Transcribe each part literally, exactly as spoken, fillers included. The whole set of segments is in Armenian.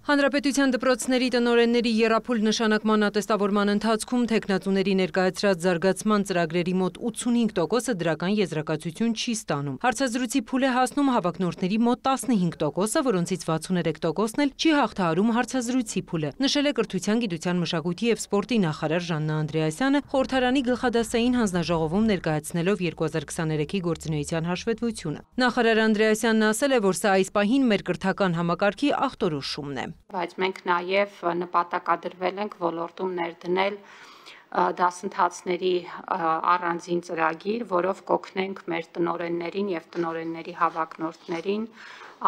Հանրապետության դպրոցների տնօրենների եռափուլ նշանակման ատեստավորման ընթացքում թեկնածուների ներկայացրած զարգացման ծրագրերի մոտ ութսունհինգ տոկոսը դրական եզրակացություն չի ստանում։ Հարցազրույցի փուլ է հասնում հավակնորդների մոտ տասնհինգ տոկոսը, որոնցից վաթսուներեք տոկոսն էլ չի հաղթահարում հարցազրույցի փուլը, նշել է Կրթության, գիտության, մշակույթի և սպորտի նախարար Ժաննա Անդրեասյանը խորհրդարանի գլխադասային հանձնաժողովում ներկայացնելով երկու հազար քսաներեքի գործունեության հաշվետվությունը։ Նախարար Անդրեասյանն ասել է, որ սա այս պահին մեր կրթական համակարգի ախտորոշումն է։ Բայց մենք նաև նպատակադրվել ենք ոլորտում ներդնել դասընթացների առանձին ծրագիր, որով կօգնենք մեր տնօրեններին և տնօրենների հավակնորդներին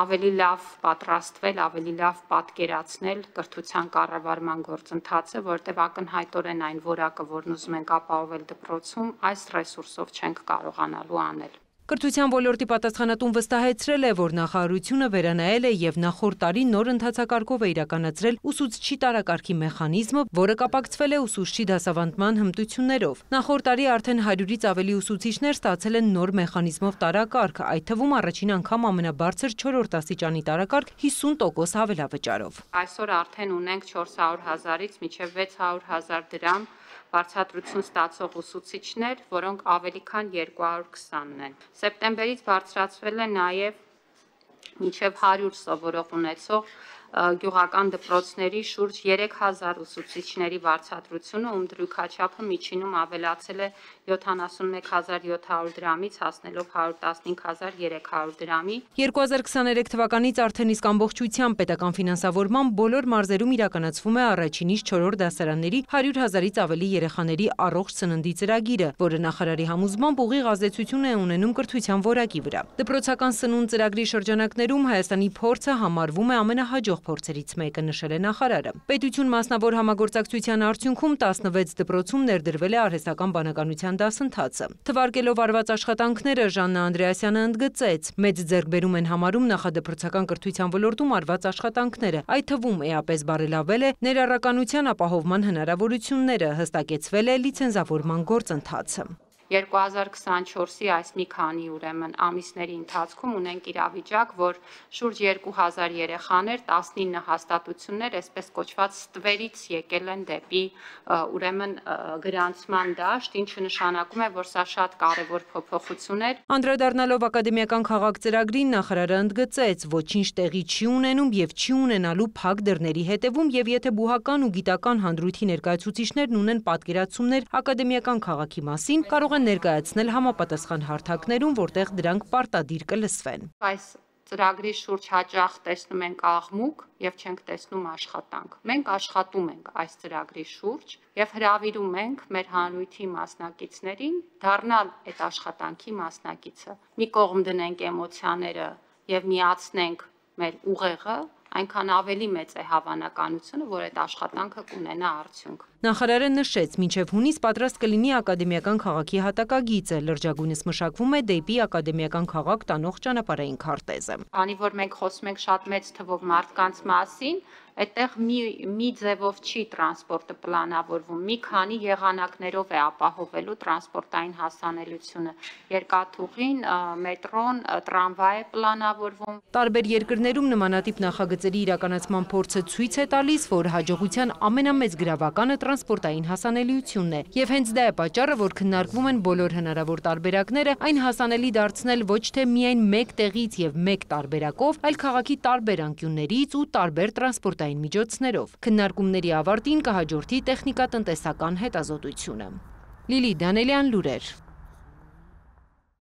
ավելի լավ պատրաստվել, ավելի լավ պատկերացնել կրթության կառավարման գործընթացը, որտեղ ակնհայտորեն այն որակը, որն ուզում ենք ապահովել դպրոցում, այս ռեսուրսով չենք կարողանալու անել։ Կրթության ոլորտի պատասխանատուն վստահեցրել է, որ նախարարությունը վերանայել է և նախորդ տարի նոր ընթացակարգով է իրականացրել ուսուցչի տարակարգի մեխանիզմը, որը կապակցվել է ուսուցչի դասավանդման հմտություններով։ Նախորդ տարի արդեն հարյուրից ավելի ուսուցիչներ ստացել են նոր մեխանիզմով տարակարգ, այդ թվում առաջին անգամ ամենաբարձր չորրորդ աստիճանի տարակարգ հիսուն տոկոս հավելավճարով։ Այսօր արդեն ունենք չորս հարյուր հազարից մինչև վեց հարյուր հազար դրամ բարձրացություն ստացող ուսուցիչներ, որոնք ավելի քան երկու հարյուր քսանն են։ Սեպտեմբերից բարձրացվել է նաև մինչև հարյուր սովորող ունեցող գյուղական դպրոցների շուրջ երեք հազար ուսուցիչների վարձատրությունը, ում դրույքաչափը միջինում ավելացել է յոթանասունմեկ հազար յոթ հարյուր դրամից հասնելով հարյուր տասնհինգ հազար երեք հարյուր դրամի։ երկու հազար քսաներեք թվականից արդեն իսկ ամբողջությամբ պետական ֆինանսավորմամբ բոլոր մարզերում իրականացվում է առաջինից չորրորդ դասարանների հարյուր հազարից ավելի երեխաների առողջ սննդի ծրագիրը, որը նախարարի համոզմամբ ուղիղ ազդեցություն է ունենում կրթության որակի վրա։ Դպրոցական սնունդ ծրագրի շրջանակներում Հայաստանի փորձը համարվում է ամենահաջող փորձերից մեկը, նշել է նախարարը։ Պետություն մասնավոր համագործակցության արդյունքում տասնվեց դպրոցում ներդրվել է արհեստական բանականության դասընթացը։ Թվարկելով արված աշխատանքները Ժաննա Անդրեասյանը ընդգծեց, մեծ ձեռքբերում են համարում նախադպրոցական կրթության ոլորտում արված աշխատանքները, այդ թվում էապես բարելավել է ներառականության ապահովման հնարավորությունները, հստակեցվել է լիցենզավորման գործընթացը։ երկու հազար քսանչորսի այս մի քանի ուրեմն ամիսների ընթացքում ունենք իրավիճակ, որ շուրջ երկու հազար երեխաներ, տասնինը հաստատություններ, այսպես կոչված ստվերից եկել են դեպի ուրեմն գրանցման դաշտ, ինչը նշանակում է, որ սա շատ կարևոր փոփոխություն է։ Անդրադառնալով ակադեմիական քաղաք ծրագրին, նախարարը ընդգծեց, ոչինչ տեղի չի ունենում եւ չի ունենալու փակ դռների հետևում, եւ եթե բուհական ու գիտական հանդրույթի ներկայացուցիչներն ունեն պատկերացումներ ակադեմիական քաղաքի մասին, կարող են ներկայացնել համապատասխան հարթակներում, որտեղ դրանք պարտադիր կլսվեն։ Այս ծրագրի շուրջ հաճախ տեսնում ենք աղմուկ եւ չենք տեսնում աշխատանք։ Մենք աշխատում ենք այս ծրագրի շուրջ եւ հրավիրում ենք մեր հանրույթի մասնակիցներին դառնալ այդ աշխատանքի մասնակիցը։ Մի կողմ դնենք էմոցիաները եւ միացնենք մեր ուղեղը, այնքան ավելի մեծ է հավանականությունը, որ այդ աշխատանքը կունենա արդյունք։ Նախարարը նշեց, մինչև հունիս պատրաստ կլինի ակադեմիական քաղաքի հատակագիծը, լրջագույնս մշակվում է դեպի ակադեմիական քաղաք տանող ճանապարհային քարտեզը։ Քանի որ մենք խոսում ենք շատ մեծ թվով մարդկանց մասին, այդտեղ մի մի ձևով չի տրանսպորտը պլանավորվում, մի քանի եղանակներով է ապահովելու տրանսպորտային հասանելիությունը։ Երկաթուղին, մետրոն, տրամվայ է պլանավորվում։ Տարբեր երկրներում նմանատիպ նախագծերի իրականացման փորձը ցույց է տալիս, որ հաջողության ամենամեծ գրավականը տրանսպորտային հասանելիությունն է, եւ հենց դա է պատճառը, որ քննարկվում են բոլոր հնարավոր տարբերակները այն հասանելի դարձնել ոչ թե միայն մեկ տեղից եւ մեկ տարբերակով, այլ քաղաքի տարբեր անկյուններից ու տարբեր տրանսպորտային միջոցներով։ Քննարկումների ավարտին կհաջորդի տեխնիկատնտեսական հետազոտությունը։ Լիլիթ Դանելյան, լուրեր։